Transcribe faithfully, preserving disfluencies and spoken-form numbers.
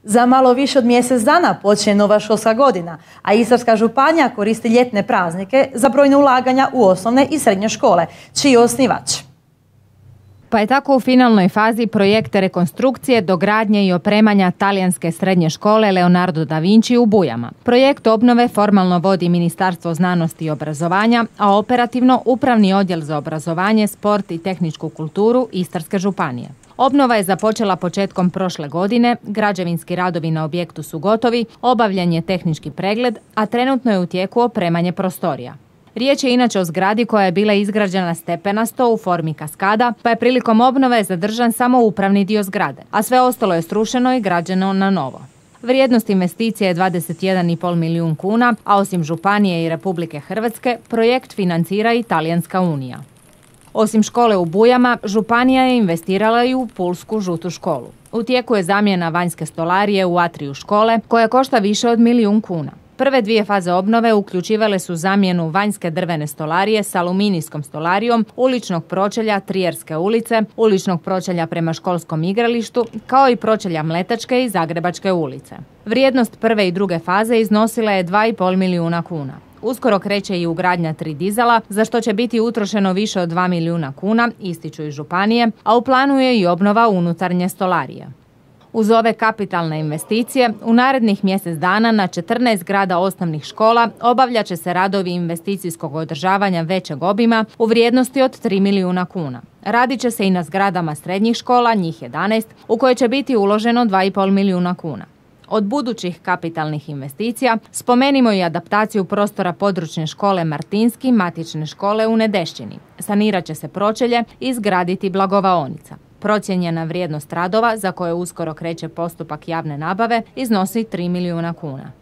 Za malo više od mjesec dana počinje nova školska godina, a Istarska županija koristi ljetne praznike za brojne ulaganja u osnovne i srednje škole, čiji je osnivač. Pa je tako u finalnoj fazi projekt rekonstrukcije, dogradnje i opremanja talijanske srednje škole Leonardo da Vinci u Bujama. Projekt obnove formalno vodi Ministarstvo znanosti i obrazovanja, a operativno Upravni odjel za obrazovanje, sport i tehničku kulturu Istarske županije. Obnova je započela početkom prošle godine, građevinski radovi na objektu su gotovi, obavljen je tehnički pregled, a trenutno je u tijeku opremanje prostorija. Riječ je inače o zgradi koja je bila izgrađena stepenasto u formi kaskada, pa je prilikom obnove zadržan samo upravni dio zgrade, a sve ostalo je srušeno i građeno na novo. Vrijednost investicije je dvadeset jedan i pol milijun kuna, a osim Županije i Republike Hrvatske, projekt financira i Talijanska unija. Osim škole u Bujama, Županija je investirala i u pulsku žutu školu. U tijeku je zamjena vanjske stolarije u atriju škole, koja košta više od milijun kuna. Prve dvije faze obnove uključivale su zamjenu vanjske drvene stolarije s aluminijskom stolarijom, uličnog pročelja Trijerske ulice, uličnog pročelja prema školskom igralištu, kao i pročelja Mletačke i Zagrebačke ulice. Vrijednost prve i druge faze iznosila je dva i pol milijuna kuna. Uskoro kreće i ugradnja tri dizela, za što će biti utrošeno više od dva milijuna kuna, ističu iz županije, a u planu je i obnova unutarnje stolarije. Uz ove kapitalne investicije, u narednih mjesec dana na četrnaest zgrada osnovnih škola obavljat će se radovi investicijskog održavanja većeg obima u vrijednosti od tri milijuna kuna. Radit će se i na zgradama srednjih škola, njih jedanaest, u koje će biti uloženo dva i pol milijuna kuna. Od budućih kapitalnih investicija spomenimo i adaptaciju prostora područne škole Martinski, matične škole u Nedešćini. Sanirat će se pročelje i izgraditi blagovaonica. Procijenjena vrijednost radova, za koje uskoro kreće postupak javne nabave, iznosi tri milijuna kuna.